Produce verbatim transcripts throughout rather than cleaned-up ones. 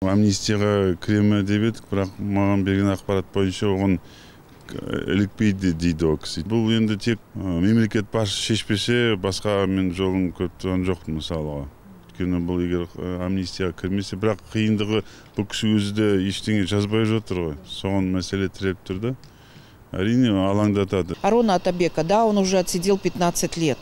Амнистияга киреме деп едик, бирок мага берген акпарат боюнча огон иликпейди дейт ал киши. Бул эndi тек мемлекет башчысы шешпесе, башка мен жолун көрүп жокмун мисалга. Өйткөнү бул эгер амнистияга кирмесе, бирок кыйындыгы бул киши өзү да эчтене жазбай жатыр го. Сонун маселе тиреп да. Арине алаңдатат. Арона Атабека, да, он уже отсидел пятнадцать лет.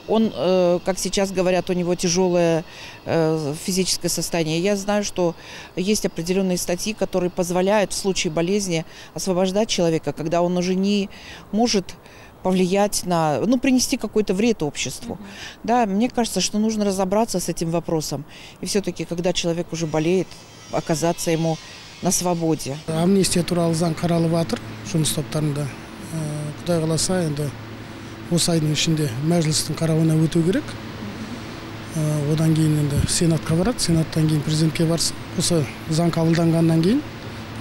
Он, э, как сейчас говорят, у него тяжелое э, физическое состояние. Я знаю, что есть определенные статьи, которые позволяют в случае болезни освобождать человека, когда он уже не может повлиять на, ну, принести какой-то вред обществу. Mm-hmm. Да, мне кажется, что нужно разобраться с этим вопросом. И все-таки, когда человек уже болеет, оказаться ему на свободе. Амнистия тууралуу заң каралып атыр, жумуш топтарында. Кудай кааласа, энди осы айдын ичинде мәжлистин карабына өтүү керек. Одан кийин энди сенатка барат, сенаттан кийин президентке барса, осы заң кабылдангандан кийин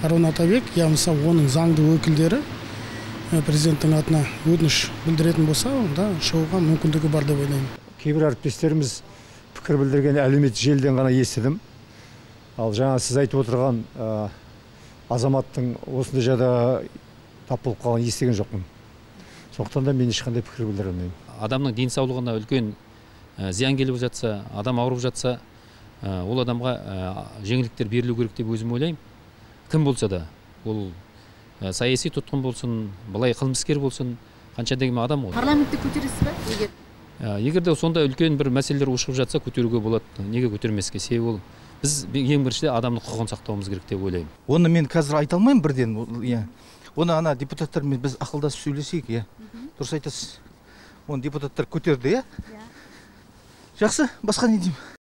Арона Атабек, я болбосо онун заңдуу өкүлдөрү президенттин атына өтүнүш билдиретін болса, да, шығуға мүмкүндүгү бар деп ойлойм. Кейбір әріптестеріміз пікір білдірген әлеуметтік желіден ғана естідім. Ал жаңа сіз айтып отырған азаматтың осындай жағдайға тап болып қалғанын естіген жоқпын. Сондықтан да мен ешқандай пікір білдіре алмаймын. Адамның денсаулығына үлкен зиян келіп жатса, адам ауырып жатса, ол адамға жеңілдіктер берілу керек деп өзім ойлаймын. Кім болса да, ол саяси тұтқын болсын, былай қылмыскер болсын, қанша деген адам ғой. Парламентте көтересіз бе? Егер егер де сонда үлкен бір мәселелер ушығып жатса, көтеруге болады. Неге көтермеске? Себебі ол біз ең біріншіден адамның құқығын сақтауымыз керек деп ойлаймын. Оны мен қазір айта алмаймын бірден, иә. Оны ана депутаттармен біз ақылдасып сөйлесейік, иә. Дұрыс айтасыз. Оны депутаттар көтерді, иә. Жақсы, басқа не деймін?